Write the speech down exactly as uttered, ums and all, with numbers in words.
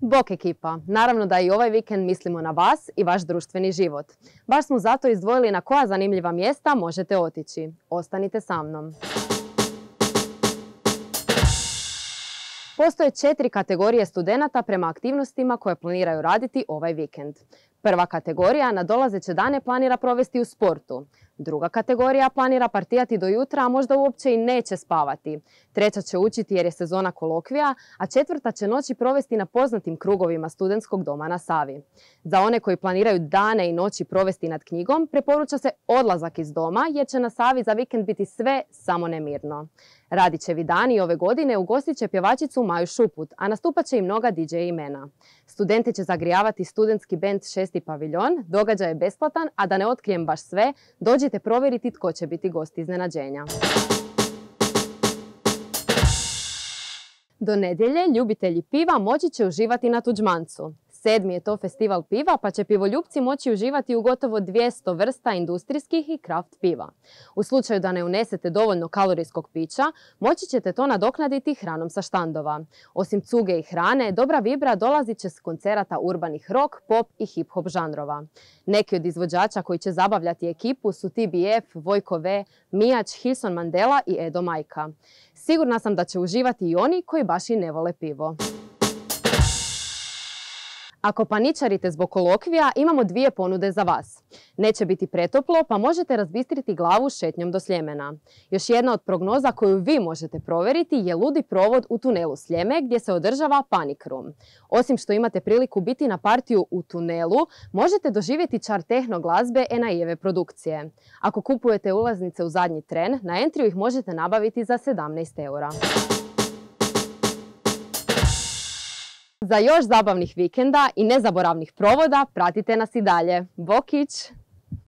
Bok ekipa, naravno da i ovaj vikend mislimo na vas i vaš društveni život. Baš smo zato izdvojili na koja zanimljiva mjesta možete otići. Ostanite sa mnom. Postoje četiri kategorije studenata prema aktivnostima koje planiraju raditi ovaj vikend. Prva kategorija nadolazeće dane planira provesti u sportu. Druga kategorija planira partijati do jutra, a možda uopće i neće spavati. Treća će učiti jer je sezona kolokvija, a četvrta će noći provesti na poznatim krugovima studentskog doma na Savi. Za one koji planiraju dane i noći provesti nad knjigom, preporuča se odlazak iz doma jer će na Savi za vikend biti sve samo nemirno. Radićevi dani ove godine ugostit će pjevačicu Maju Šuput, a nastupat će i mnoga di džej imena. Studenti će zagrijavati studentski bend Šesti paviljon, događaj je besplatan, a da ne otkrijem baš sve, dođite provjeriti tko će biti gost iznenađenja. Do nedjelje ljubitelji piva moći će uživati na Tuđmancu. Sedmi je to festival piva, pa će pivoljupci moći uživati u gotovo dvjesto vrsta industrijskih i kraft piva. U slučaju da ne unesete dovoljno kalorijskog pića, moći ćete to nadoknaditi hranom sa štandova. Osim cuge i hrane, dobra vibra dolazit će s koncerata urbanih rock, pop i hip-hop žanrova. Neki od izvođača koji će zabavljati ekipu su T B F, Vojko V, Mijač, Hilson Mandela i Edo Majka. Sigurna sam da će uživati i oni koji baš i ne vole pivo. Ako paničarite zbog kolokvija, imamo dvije ponude za vas. Neće biti pretoplo, pa možete razbistriti glavu šetnjom do Sljemena. Još jedna od prognoza koju vi možete provjeriti je ludi provod u tunelu Sljeme gdje se održava Panic Room. Osim što imate priliku biti na partiju u tunelu, možete doživjeti čar tehno glazbe en a i-eve produkcije. Ako kupujete ulaznice u zadnji tren, na Entriju ih možete nabaviti za sedamnaest eura. Za još zabavnih vikenda i nezaboravnih provoda pratite nas i dalje. Bokić!